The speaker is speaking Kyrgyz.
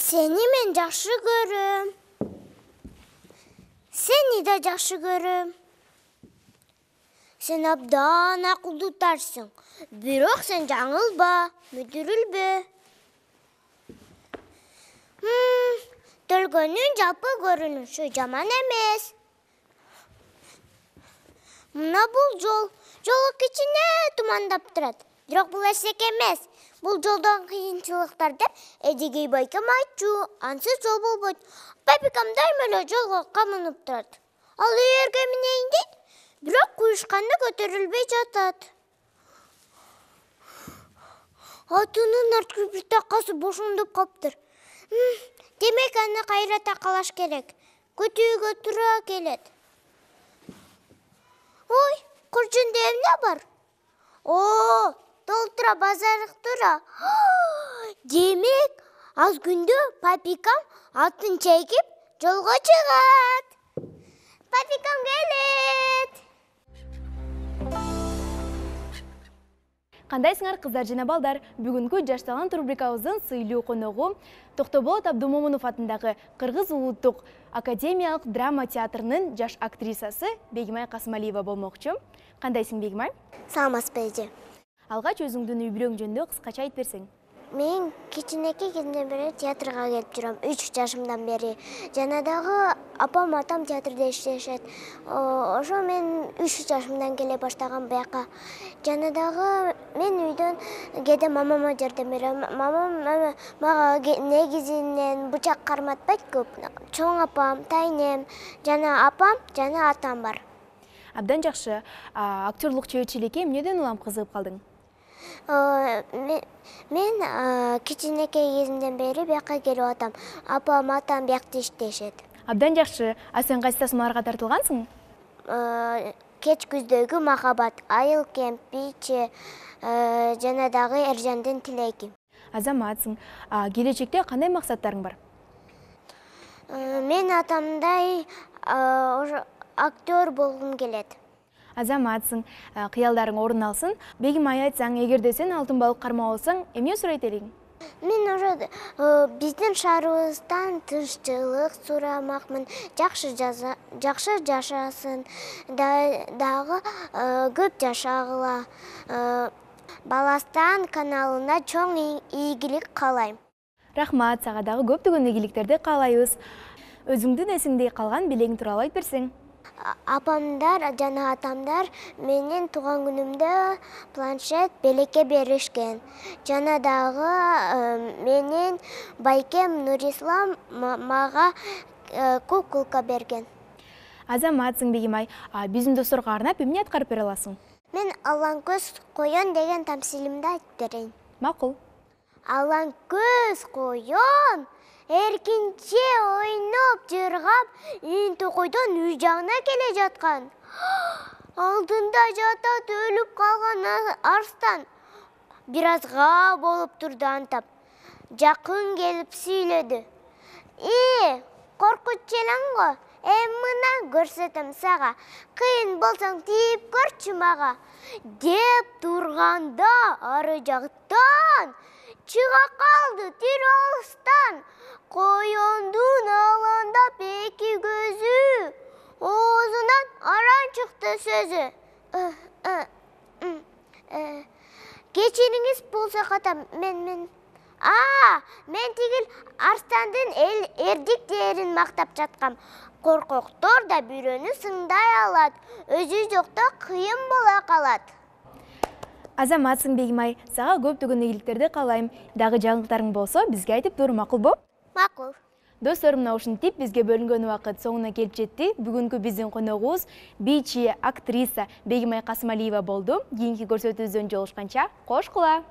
Seni men жакшы көрөм. Seni да жакшы көрөм. Sen абдан акылдуутарсың. Бирок сен жаңылба, мүдүрүлбө. Төлгөнүн жалпы көрүнүшү жаман эмес. Мына бул жолу кичине тумандап турат. Бирок бул эсек эмес. Бул жолдон кыйынчылыктар деп Эдигей байкем айтчу. Ансыз жол болбойт. Папикам дайыма эле жолго камынып турат. Ал ээрге минейин дейт, бирок куюшканы көтөрүлбөй жатат. Атынын арткы бир такасы бошондоп калыптыр. Демек аны кайра такалаш керек. Көтүүгө туура келет. Ой, куржунда эмне бар? Толтура базарык тура. Демек, аз күндө папикам атын чегип жолго чыгат. Папикам келет. Кандайсыңар кыздар жана балдар? Бүгүнкү Жаш талант рубрикабыздын сыйлуу коногу Токтоболот Абдумомунов атындагы Кыргыз улуттук академиялык драма театрынын жаш актрисасы Бегимай Касымалиева болмокчу. Кандайсың, Бегимай? Саламатсызбы эже. Алгач өзүңдүн үй-бүлөң жөнүндө кыскача айтып берсең. Мен кичинекей кезимден бери театрга келип жүрөм. 3 жашымдан бери. Жана дагы апам, атам театрда иштешет. Ошо мен 3 жашымдан келе баштагам буяка. Жана дагы мен үйдөн кээде мамама жардам берем. Мамам мага негизинен бычак карматпайт көп. Чоң апам, тайнем, жана апам, жана атам бар. Абдан жакшы. Актерлук чеберчиликке эмнеден улам кызыгып калдың? Мен кичинекей кезимден бери бияка келип атам. Апам, атам биякта иштешет. Абдан жакшы. Сен кайсы тасмаларга тартылгансың? Кеч күздөгү махабат, айыл кемпичи, жана дагы Эржандын тилеги. Азаматсың. Келечекте кандай максаттарың бар? Мен атамдай актер болгум келет. Азаматсың. Кыялдарың орун алсын. Бегимай, айтсаң, эгерде сен алтын балык кармап алсаң, эмне сурайт элең? Мен ошо биздин шаарыбыздан тынччылык сурамакмын, жакшы жашасын, дагы көп жашагыла. Баластан каналына чоң ийгилик каалайм. Рахмат, сага дагы көптөгөн ийгиликтерди каалайбыз. Өзүңдүн эсиңде калган белең тууралуу айтып берсең. Апамдар жана атамдар менин тууган күнүмдө планшет, белекке беришкен. Жана дагы менин байкем Нурислам мага куколка берген. Азаматсың, Бегимай. Биздин досторго арнап эмне аткарып бере аласың? Мен Алан көз коён деген тамсилимди айтып берейин. Макул. Алан көз коён эркинче ойноп жыргап, токойдон үй жагына келе жаткан. Алдында жатат өлүп калган арстан. Бир азга болуп турду антап. Жакын келип сүйлөдү. Коркунч элең го. Мына көрсөтөм сага. Кыйын болсоң тийип көрчү мага. Деп турганда ары жактан чыга калды тирүү алыстан. Коёндун аландап эки көзү, оозунан аран чыкты сөзү. Кечириңиз болсо катам, мен тигил арстандын эрдик дээрин мактап жаткам. Коркоктор да бирөөнү сыңдай алат, өзү жокто кыйын боло калат. Азаматсың, Бегимай, сага көптөгөн ийгиликтерди каалайм. Дагы жаңылыктарың болсо, бизге айтып тур, макулбу? Макул. Достор, мына ушинтип бизге бөлүнгөн убакыт соңуна келип жетти. Бүгүнкү биздин коногубуз бийчи, актриса Бегимай Касымалиева болду. Кийинки көрсөтүүбүздөн жолугушканча, кош кула.